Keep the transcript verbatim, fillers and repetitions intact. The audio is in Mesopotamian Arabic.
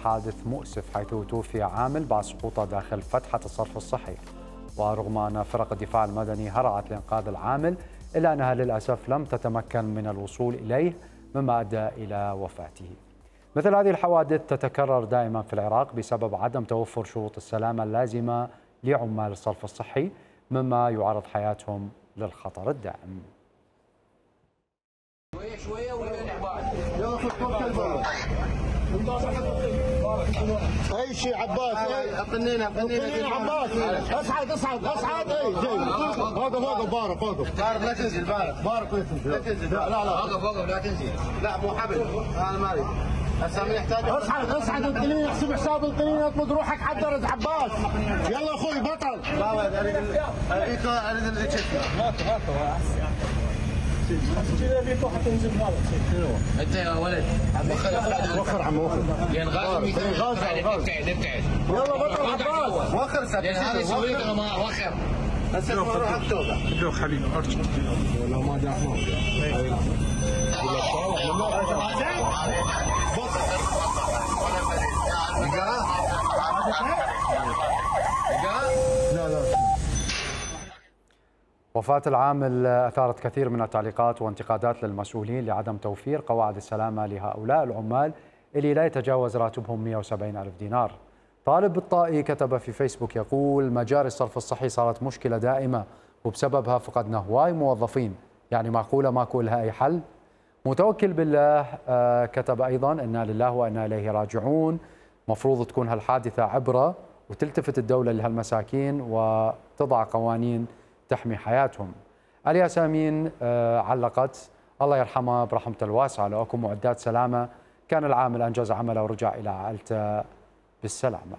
حادث مؤسف حيث توفي عامل بعد سقوطه داخل فتحة الصرف الصحي. ورغم أن فرق الدفاع المدني هرعت لإنقاذ العامل إلا أنها للأسف لم تتمكن من الوصول إليه مما أدى إلى وفاته. مثل هذه الحوادث تتكرر دائما في العراق بسبب عدم توفر شروط السلامة اللازمة لعمال الصرف الصحي مما يعرض حياتهم للخطر الدائم. شويه شويه ولا يلا اي شيء عباس اطنينا اطنينا عباس اصعد اصعد اصعد اي جاي وقف وقف بارك وقف بارك لا تنزل بارك بارك لا تنزل لا لا وقف وقف لا تنزل لا مو حبل انا ما اريد هسه من يحتاج اصعد اصعد القنين احسب حساب القنين اطلق روحك على الدرج عباس يلا اخوي بطل لا ولد اريد اريد اريد اللي تشتغل ماكو ماكو كذا بيكو حتنزل هذا انت يا ولد وخر وخر عم وخر لان غازي غازي ابتعد ابتعد يلا بطل عباس وخر لان هذا يسوي لك ما وخر هسه نروح التوبه لو خلينا ارجع ولا ما دعمه لا لا. وفاة العامل أثارت كثير من التعليقات وانتقادات للمسؤولين لعدم توفير قواعد السلامة لهؤلاء العمال اللي لا يتجاوز راتبهم مئة وسبعين ألف دينار. طالب بالطائي كتب في فيسبوك يقول: مجاري الصرف الصحي صارت مشكلة دائمة وبسببها فقدنا هواي موظفين، يعني معقولة ماكو لها أي حل؟ متوكل بالله كتب أيضا: إنا لله وإنا إليه راجعون، مفروض تكون هالحادثة عبرة وتلتفت الدولة لهالمساكين وتضع قوانين تحمي حياتهم. الياسمين علقت: الله يرحمه برحمته الواسعة، لو اكو معدات سلامة كان العامل أنجز عمله ورجع إلى عائلته بالسلامة.